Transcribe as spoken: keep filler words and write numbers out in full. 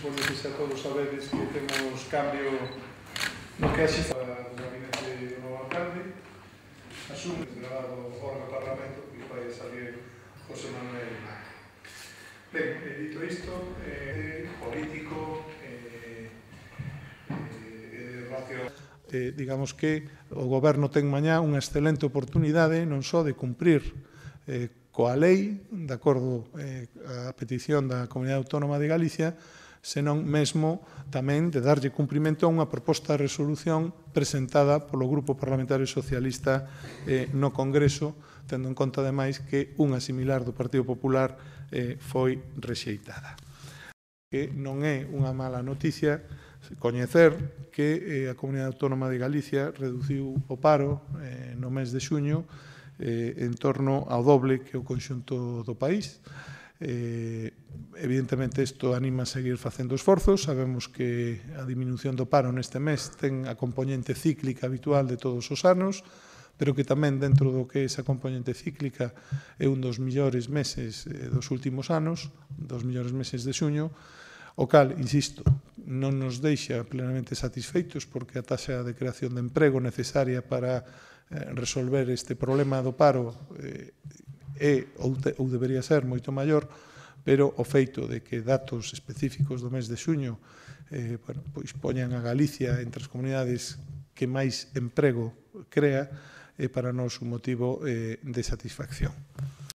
supoño que xa todos sabedes que temos cambio no que axe do gabinete do novo alcalde, asume desgradado fora do Parlamento que vai salir José Manuel Mac. Ben, dito isto, eh, político, eh, eh, racional. Eh, digamos que o Goberno ten mañá unha excelente oportunidade non só de cumprir eh, coa lei, de acordo eh, a petición da Comunidade Autónoma de Galicia, senón mesmo tamén de darlle cumprimento a unha proposta de resolución presentada polo Grupo Parlamentario Socialista eh, no Congreso, tendo en conta, ademais, que unha similar do Partido Popular eh, foi rexeitada. Que non é unha mala noticia coñecer que eh, a Comunidade Autónoma de Galicia reduciu o paro eh, no mes de xuño eh, en torno ao doble que o conxunto do país. Eh, evidentemente, isto anima a seguir facendo esforzos. Sabemos que a diminución do paro neste mes ten a componente cíclica habitual de todos os anos, pero que tamén dentro do que esa componente cíclica é un dos millores meses eh, dos últimos anos, dos millores meses de xuño, o cal, insisto, non nos deixa plenamente satisfeitos porque a taxa de creación de emprego necesaria para eh, resolver este problema do paro eh, é ou, te, ou debería ser moito maior, pero o feito de que datos específicos do mes de xuño eh, bueno, pois poñan a Galicia entre as comunidades que máis emprego crea é para nós un motivo eh, de satisfacción.